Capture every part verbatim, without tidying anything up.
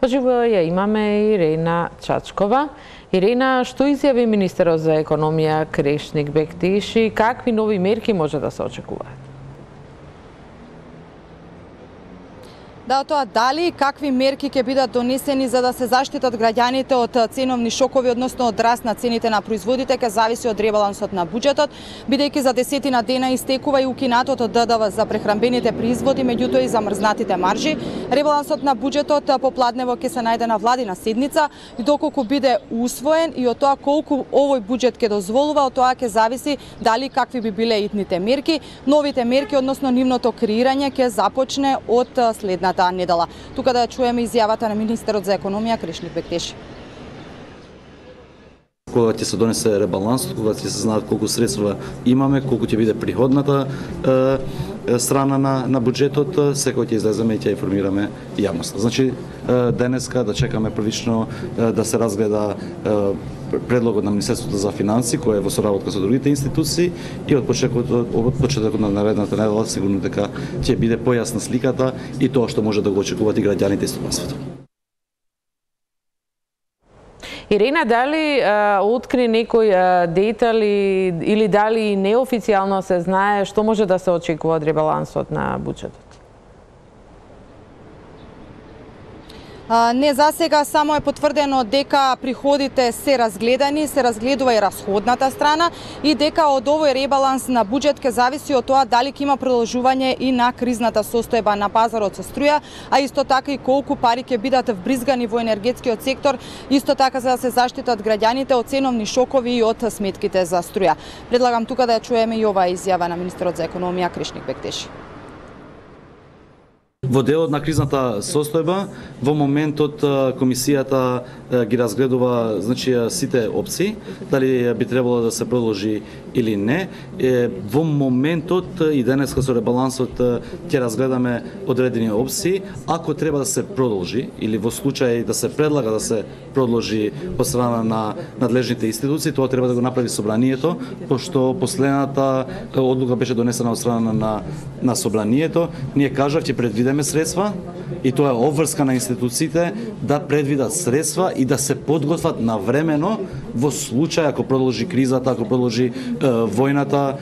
Поживо ја имаме Ирена Чачкова. Ирена, што изјави министерот за економија Крешник Бектиши, какви нови мерки може да се очекуваат? Да, тоа дали какви мерки ќе бидат донесени за да се заштитат граѓаните од ценовни шокови, односно од раст на цените на производите, ќе зависи од ребалансот на буџетот, бидејќи за десетина дена истекува и укинатот од Д Д В за прехранбените производи, меѓутоа и замрзнатите маржи. Ребалансот на буџетот попладнево ќе се најде на владина седница и доколку биде усвоен и од тоа колку овој буџет ќе дозволува, од тоа ќе зависи дали какви би биле итните мерки. Новите мерки, односно нивното креирање, ќе започне од следната недела. Тука да ја чуеме изјавата на министерот за економија Крешник Бектиши. Кога ќе се донесе ребалансот, кога ќе се знаат колку средства имаме, колку ќе биде приходната е, страна на, на буџетот, секој ќе излеземе и ќе информираме јавноста. Значи, денеска да чекаме првично да се разгледа предлогот на Министерството за финансии, кој е во соработка со другите институции, и од почетокот, од почетокот на наредната недела сигурно дека ќе биде појасна сликата и тоа што може да го очекуваат и граѓаните и стопанството. Ирена, дали а, откри некој а, детали или дали неофицијално се знае што може да се очекува од ребалансот на буџетот? Не, за сега само е потврдено дека приходите се разгледани, се разгледува и расходната страна и дека од овој ребаланс на буџет ќе зависи од тоа дали ќе има продолжување и на кризната состојба на пазарот со струја, а исто така и колку пари ќе бидат вбризгани во енергетскиот сектор, исто така за да се заштитат граѓаните од ценовни шокови и од сметките за струја. Предлагам тука да ја чуеме и оваа изјава на министерот за економија Крешник Бектиши. Во делот на кризната состојба, во моментот комисијата ги разгледува, значи, сите опции, дали би требало да се продолжи или не. Во моментот и денеска со ребалансот ќе разгледаме одредени опции. Ако треба да се продолжи или во случај да се предлага да се продолжи од страна на надлежните институции, тоа треба да го направи собранието, пошто последната одлука беше донесена од страна на на собранието. Ние кажав ќе предвидеме средства и тоа е обврска на институциите да предвидат средства и да се подготват навремено во случај ако продолжи кризата, ако продолжи е, војната.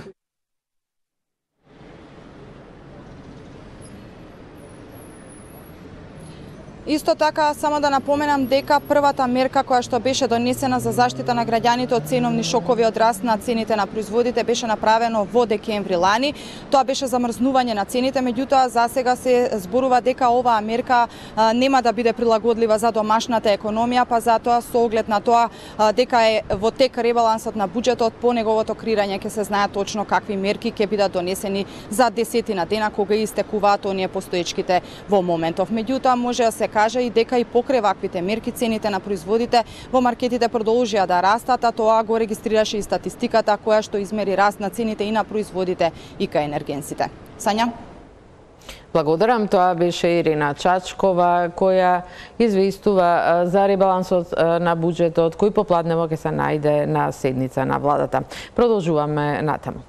Исто така, само да напоменам дека првата мерка која што беше донесена за заштита на граѓаните од ценовни шокови од раст на цените на производите беше направено во декември лани. Тоа беше замрзнување на цените, меѓутоа за сега се зборува дека оваа мерка а, нема да биде прилагодлива за домашната економија, па затоа со оглед на тоа а, дека е во тек ребалансот на буџетот, по неговото креирање ќе се знае точно какви мерки ќе бидат донесени за десетина дена кога истекуваат оние постоечките во моментов. Меѓутоа може да се кажа и дека и покрај ваквите мерки цените на производите во маркетите продолжија да растат, а тоа го регистрираше и статистиката која што измери раст на цените и на производите и кај енергенсите. Сања? Благодарам, тоа беше Ирена Чачкова која известува за ребалансот на буџетот кој попладнево ќе се најде на седница на владата. Продолжуваме натаму.